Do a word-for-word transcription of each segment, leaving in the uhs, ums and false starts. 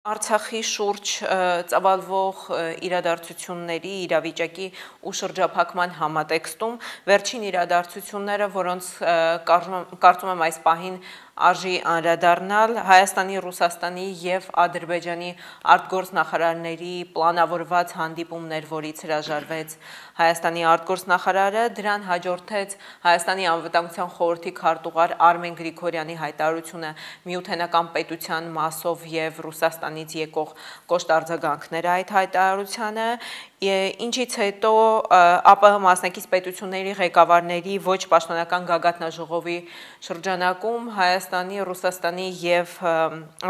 Արցախի շուրջ ծավալվող իրադարձությունների, իրավիճակի ու շրջափակման համատեքստում վերջին իրադարձությունները, որոնց կարծում եմ այս պահին արժի անդրադառնալ, Հայաստանի, Ռուսաստանի և Ադրբեջանի արտգործնախարարների պլանավորված հանդիպումներ, որից հրաժարվեց Հայաստանի արտգործնախարարը, դրան հաջորդեց Հայաստանի անվտանգության խորհրդի քարտուղար Արմեն Գրիգորյանի հայտարարությունը Միութենական պետության մասով և Ռուսաստանից եկող կոշտ արձագանքները այդ հայտարարությանը, ինչից հետո ԱՊՀ մասնակից պետությունների ղեկավարների ոչ պաշտոնական գագաթնաժողովի շրջանակում Հայաստանի, Ռուսաստանի և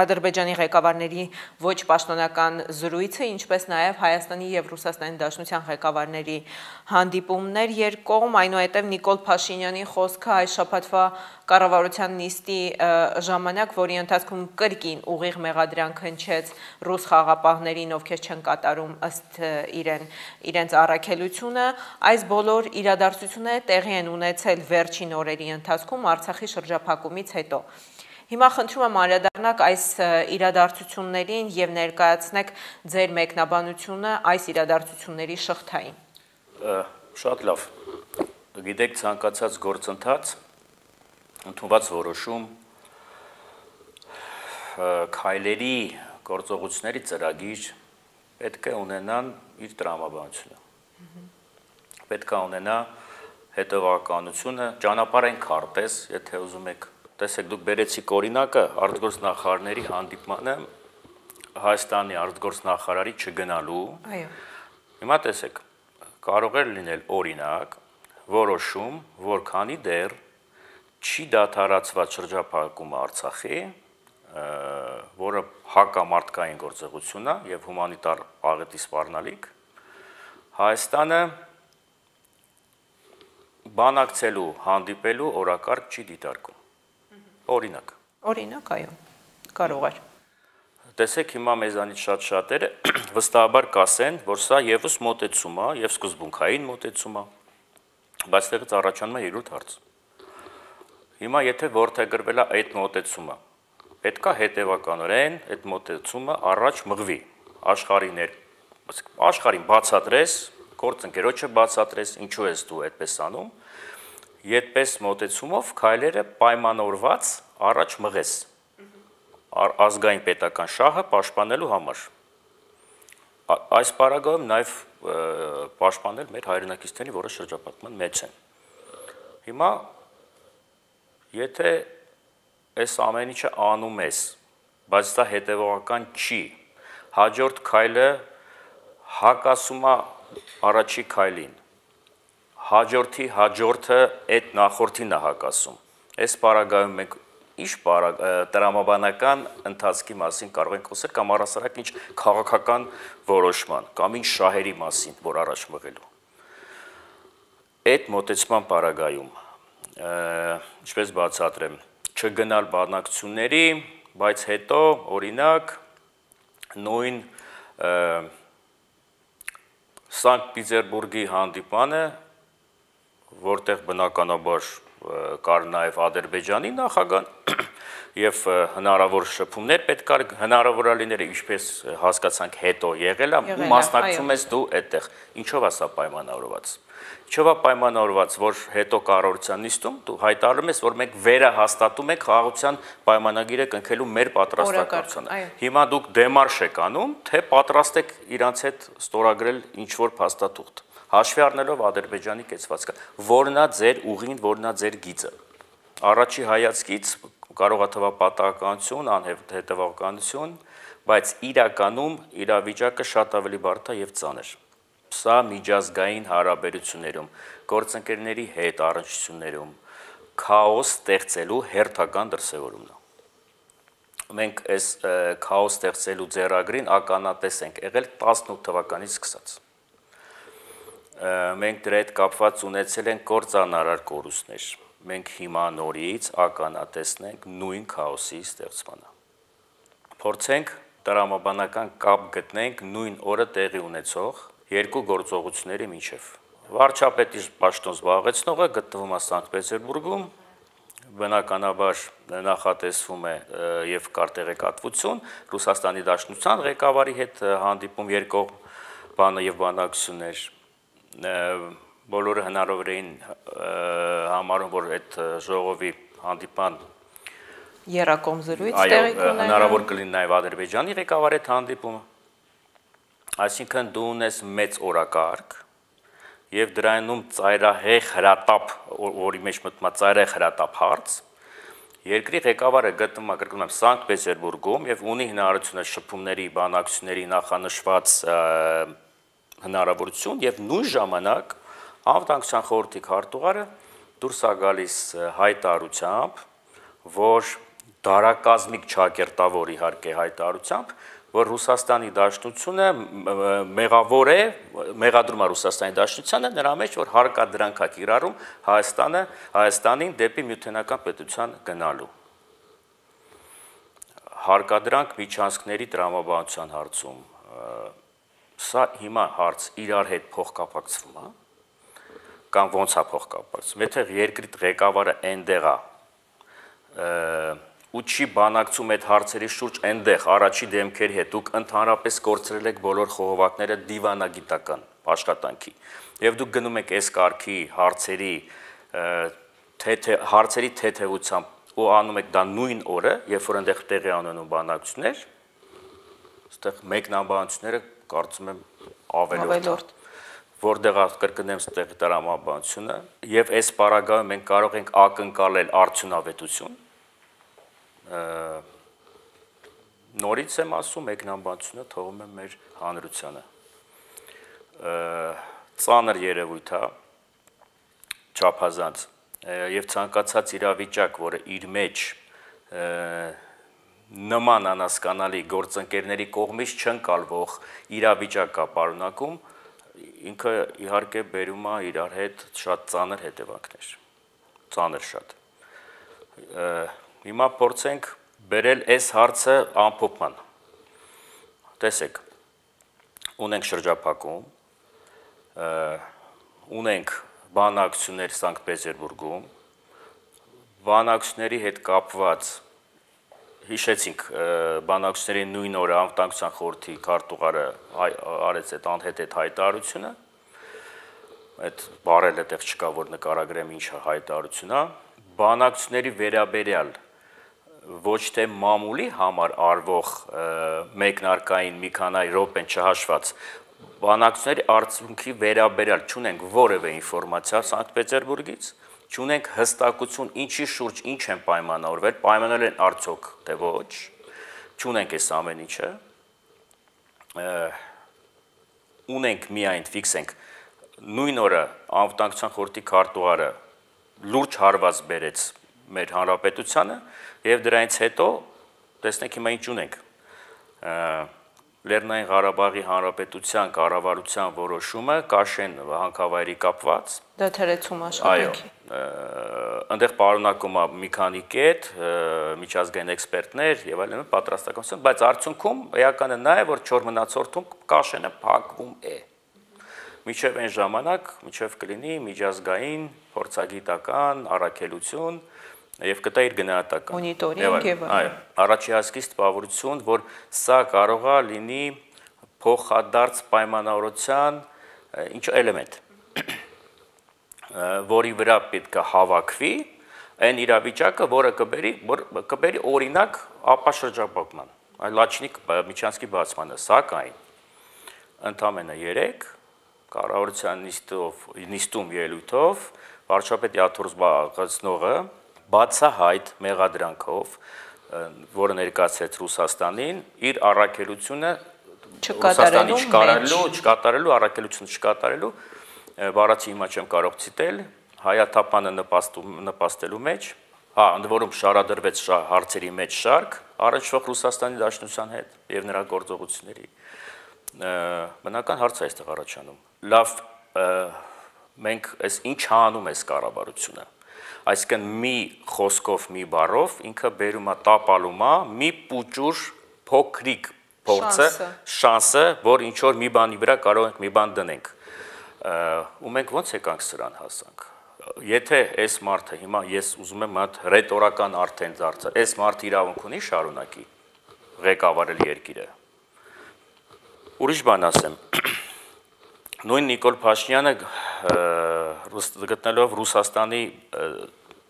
Ադրբեջանի ղեկավարների ոչ պաշտոնական զրույցը, ինչպես նաև Հայաստանի և Ռուսաստանի Դաշնության ղեկավարների հանդիպումներ երկկողմ, այնուհետև Նիկոլ Փաշինյանի խոսքը այս շաբաթվա կառավարության նիստի ժամանակ, որի ընթացքում կրկին ուղիղ մեղադրանք հնչեց ռուս խաղապահներին, ովքեր չեն կատարում ըստ իրեն իրենց առաքելությունը, այս բոլոր իրադարձությունները տեղի են ունեցել վերջին օրերի ընթացքում Արցախի շրջափակումից հետո։ Հիմա խնդրում եմ անդրադառնաք այս իրադարձություններին և ներկայացնեք ձեր մեկնաբանությունը այս իրադարձությունների շղթային։ Շատ լավ։ Գիտեք, ցանկացած գործընթաց, ընդունված որոշում, քայլերի, գործողությունների ծրագիր պետք է ունենան իր տրամաբանությունը։ Պետք է ունենա հետևականությունը, ճանապարհային քարտեզ, եթե ուզում եք, տեսեք, դուք բերեցիք օրինակը արտգործնախարարների հանդիպմանը Հայաստանի արտգործնախարարի չգնալու։ Հիմա տեսեք, կարող էր լինել օրինակ, որոշում, որքանի դեռ չի դադարեցված շրջափակումը Արցախի, որը հակամարտկային գործողություն է եւ հումանիտար աղետի սպառնալիք, Հայաստանը բանակցելու, հանդիպելու օրակարգ չի դիտարկում։ Օրինակ։ Օրինակ, այո, կարող էր։ Տեսեք, հիմա մեզանից շատ շատերը վստահաբար կասեն, որ սա եւս մոտեցում է, եւ սկզբունքային մոտեցում է, բայց դեռ առաջանում է երկրորդ հարց։ Հիմա եթե որդեգրվել է այդ մոտեցումը, պետք է հետևականորեն այդ մոտեցումը առաջ մղվի, աշխարհին, աշխարհին բացատրես, գործընկերոջը բացատրես, ինչու ես դու այդպես անում, այդպես մոտեցումով քայլերը պայմանավորված առաջ մղես ազգային պետական շահը պաշտպանելու համար։ Այս պարագայում նաև պաշտպանել մեր հայրենակիցների, որը շրջափակման մեջ են։ Հիմա եթե այս ամեն ինչը անում ես, բայց դա հետևողական չի, հաջորդ քայլը հակասում է առաջի քայլին, հաջորդի հաջորդը այդ նախորդին է հակասում։ Այս պարագայում մենք ինչ տրամաբանական ընթացքի մասին կարող ենք խոսել կամ առասարակ ինչ քաղաքական որոշման կամ ինչ շահերի մասին, որ առաջ մղելու։ Այդ մոտեցման պարագայում, ինչպես բացատրեմ, չգնալ բանակցությունների, բայց հետո օրինակ նույն Սանկտ Պետերբուրգի հանդիպանը, որտեղ բնականաբար կար նաև Ադրբեջանի նախագահ եւ հնարավոր շփումներ պետք է հնարավոր լիներ, ինչպես հասկացանք հետո եղել է, ու մասնակցում ես դու այդտեղ։ Ինչով է սա պայմանավորված։ Ինչով է պայմանավորված, որ հետո կառավարության նիստում դու հայտարարում ես, որ մենք վերահաստատում ենք խաղաղության պայմանագիրը կնքելու մեր պատրաստակամությունը։ Հիմա դուք դեմարշ եք անում, թե պատրաստ եք իրանց հետ ստորագրել ինչ-որ փաստաթուղթ, հաշվի առնելով Ադրբեջանի կեցվածքը, որն է ձեր ուղին, որն է ձեր գիծը։ Առաջի հայացքից կարող է թվալ պատահականություն, անհետևականություն, բայց իրականում իրավիճակը շատ ավելի բարդ է եւ ծանր։ Սա միջազգային հարաբերություններում, գործընկերների հետ առնչություններում քաոս ստեղծելու հերթական դրսևորումն է։ Մենք այս քաոս ստեղծելու ձեռագրին ականատես ենք եղել տասնութ թվականից սկսած։ Մենք դրա հետ կապված ունեցել ենք կործանարար կորուստներ։ Մենք հիմա նորից ականատեսնենք նույն քաոսի ստեղծմանը։ Փորձենք տրամաբանական կապ գտնենք նույն օրը տեղի ունեցող երկու գործողությունների միջև։ Վարչապետի պաշտոն զբաղեցնողը գտնվում է Սանկտ Պետերբուրգում, բնականաբար նախատեսվում է եւ կար տեղեկատվություն Ռուսաստանի Դաշնության ղեկավարի հետ հանդիպում երկկողմ բանը եւ բանակցություններ բոլորը հնարավոր էին համարում, որ այդ ժողովի հանդիպան երակոմ զրույց տեղի կունենա, հնարավոր կլինի նաեւ Ադրբեջանի ղեկավարի հետ հանդիպումը, այսինքն դու ունես մեծ օրակարգ եւ դրանում ծայրահեղ հրատապ, որի մեջ մտնում է ծայրահեղ հրատապ հարց, երկրի ղեկավարը գտնվում է կրկնում եմ Սանկտ Պետերբուրգում եւ ունի հնարավորությունը շփումների, բանակցությունների նախանշված հնարավորություն եւ նույն ժամանակ Անվտանգության խորհրդի քարտուղարը դուրս է գալիս հայտարարությամբ, որ դարակազմիկ ճակերտավոր իհարկե հայտարարությամբ, որ Ռուսաստանի Դաշնությունը մեղավոր է, մեղադրում է Ռուսաստանի Դաշնությանը նրա մեջ, որ հարկադրանք է կիրառում Հայաստանը, Հայաստանին դեպի Միութենական պետության գնալու։ Հարկադրանք միջանցքների տրամաբանության հարցում, սա հիմա հարց իրար հետ փոխկապակցվում է, կամ ոնց է փոխկապակցվում, եթե երկրի ղեկավարը այնտեղ է ու չի բանակցում այդ հարցերի շուրջ այնտեղ առաջի դեմքերի հետ, դուք ընդհանրապես կորցրել եք բոլոր խողովակները դիվանագիտական աշխատանքի եւ դուք գնում եք այս կարգի հարցերի թե հարցերի թեթևությամբ ու անում եք դա նույն օրը, երբ որ այնտեղ տեղի ունենում բանակցություններ, այստեղ մեկնաբանությունները կարծում եմ ավելորդ որտեղ կրկնեմ ստեղի տրամաբանությունը եւ այս պարագայում մենք կարող ենք ակնկալել արդյունավետություն նորից եմ ասում մեկնաբանությունը թողում եմ մեր հանրությանը ծանր երևույթ է չափազանց եւ ցանկացած իրավիճակ, որը իր մեջ նման անհասկանալի գործընկերների կողմից չընկալվող իրավիճակ կա պարունակում, ինքը իհարկե բերում է իրար հետ շատ ծանր հետևանքներ, ծանր շատ։ Հիմա փորձենք բերել այս հարցը ամփոփման։ Տեսեք, ունենք շրջափակում, ունենք բանակցություններ Սանկտ Պետերբուրգում, բանակցությունների հետ կապված հիշեցինք բանակցությունների նույն օրը Անվտանգության խորհրդի քարտուղարը արեց այդ անհետ այդ հայտարարությունը, այդ բառերը տեղ չկա, որ նկարագրեմ ինչ հայտարարություն է, բանակցությունների վերաբերյալ ոչ թե մամուլի համար արվող մեկնարկային մի քանի րոպեն չհաշված, բանակցությունների արդյունքի վերաբերյալ չունենք որևէ ինֆորմացիա Սանկտ Պետերբուրգից, չունենք հստակություն ինչի շուրջ ինչ են պայմանավորվել, պայմանավորել են արդյոք թե ոչ, չունենք այս ամեն ինչը, ունենք միայն ֆիքսենք նույն օրը Անվտանգության խորհրդի քարտուղարը լուրջ հարված բերեց մեր հանրապետությանը եւ դրանից հետո տեսնենք հիմա ինչ ունենք Լեռնային Ղարաբաղի Հանրապետության կառավարության որոշումը Կաշեն հանքավայրի կապված դադարեցում աշխատանքի այնտեղ պարունակում է մի քանի կետ միջազգային էքսպերտներ եւ այլն պատրաստականություն, բայց արդյունքում էականը նա է, որ չոր մնացորդում Կաշենը փակվում է միջև այն ժամանակ, միջև կլինի միջազգային փորձագիտական առաքելություն եւ կտա իր գնահատական մոնիտորինգ եւ այո առաջի հասկից տպավորություն, որ սա կարող է լինի փոխադարձ պայմանավորության ինչ էլեմենտ, որի վրա պետք է հավաքվի այն իրավիճակը, որը կբերի, որ կբերի օրինակ ապաշրջապատման, այլ Լաչինի միջանցքի բացմանը, սակայն ընդամենը երեք կառավարության նիստով, նիստում ելույթով վարչապետ Աթոռ զբաղեցնողը բացահայտ մեղադրանքով, որը ներկայացրեց Ռուսաստանին, իր առաքելությունը Ռուսաստանի չկատարելու, չկատարելու, առաքելությունը չկատարելու, բառացի հիմա չեմ կարող ցիտել, հայաթափանը նպաստելու մեջ, հա, ընդ որում շարադրվեց հարցերի մեջ շարք, առնչվող Ռուսաստանի Դաշնության հետ եւ նրա գործողությունների։ Բնական հարց է այստեղ առաջանում։ Լավ, մենք այս ինչ անում է կառավարությունը։ Այսինքն մի խոսքով, մի բառով ինքը բերում է տապալում է մի պուճուր փոքրիկ փորձը, շանսը, որ ինչ որ մի բանի վրա կարող ենք մի բան դնենք։ Ու մենք ոնց եկանք սրան հասանք։ եթե այս մարդը հիմա ես ուզում եմ հատ ռետորական արդեն դարձնել, այս մարդը իրավունք ունի շարունակի ղեկավարել երկիրը։ Ուրիշ բան ասեմ, նույն Նիկոլ Փաշինյանը գտնելով Ռուսաստանի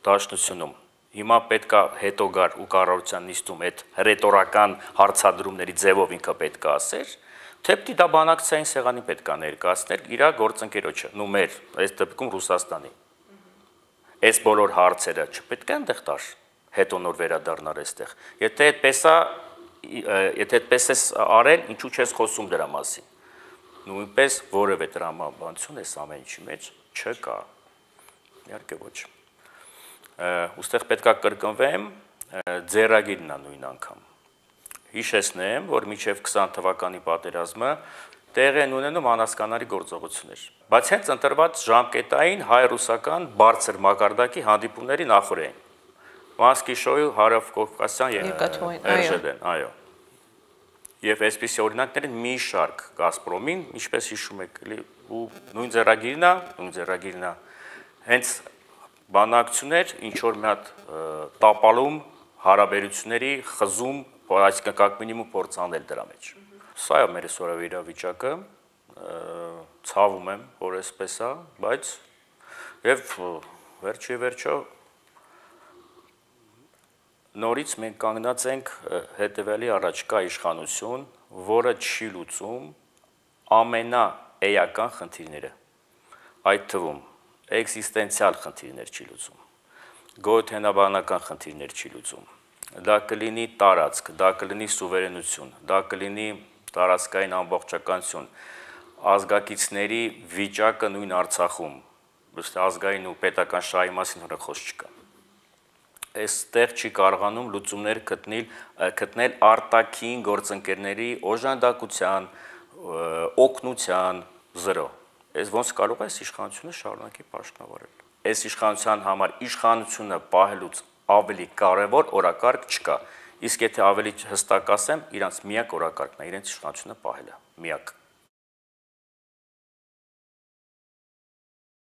դաշնությունում, հիմա պետք է հետո գար ու կառավարության նիստում այդ ռետորական հարցադրումների ձևով ինքը պետք է ասեր, թե պիտի դա բանակցային սեղանի պետք է ներկայացներ իր գործընկերոջը, նու մեր, այս դեպքում Ռուսաստանի։ Այս բոլոր հարցերը չպետք է այնտեղ տար, հետո նոր վերադառնար այստեղ։ Եթե այդպես է, եթե այդպես ես արել, ինչու չես խոսում դրա մասին։ Նույնպես որևէ տրամաբանություն այս ամեն ինչի մեջ չկա։ Իհարկե ոչ։ Ուստեղ պետք է կրկնվեմ, ձեռագիրն է նույն անգամ։ Հիշեցնեմ, որ մինչև քսան թվականի պատերազմը տեղ են ունենում անհասկանալի գործողություններ։ Բայց հենց ընտրված ժամկետային հայ-ռուսական բարձր մակարդակի հանդիպումների նախորդին։ Մոսկվիշոյի հարավ-կովկասյան երժելեն, այո։ Եվ այսպիսի օրինակներ են մի շարք Գազպրոմին, ինչպես հիշում եք, ու նույն ձեռագիրն է, նույն ձեռագիրն է, հենց բանակցություններ, ինչ որ մի հատ տապալում հարաբերությունների խզում, այսինքն կակ մինիմում փորձ անել դրա մեջ։ Սա է մեր այսօրվա իրավիճակը, ցավում եմ, որ այսպես է, բայց եւ վերջի վերջո նորից մենք կանգնած ենք հետևելի առաջ կա իշխանություն, որը չի լուծում ամենաէական խնդիրները, այդ թվում էքզիստենցիալ խնդիրներ չի լուծում, գոյութենաբանական խնդիրներ չի լուծում, դա կլինի տարածք, դա կլինի սուվերենություն, դա կլինի տարածքային ամբողջականություն, ազգակիցների վիճակը նույն Արցախում, ազգային ու պետական շահի մասին հոռ խոսք չկա։ Այստեղ չի կարողանում լուծումներ գտնել, գտնել արտաքին գործընկերների օժանդակության, օգնության զրո։ Այս ոնց կարող է այս իշխանությունը շարունակի պաշտպանել։ Այս իշխանության համար իշխանությունը պահելուց ավելի կարևոր օրակարգ չկա։ Իսկ եթե ավելի հստակ ասեմ, իրանց միակ օրակարգն է իրենց իշխանությունը պահելը, միակ։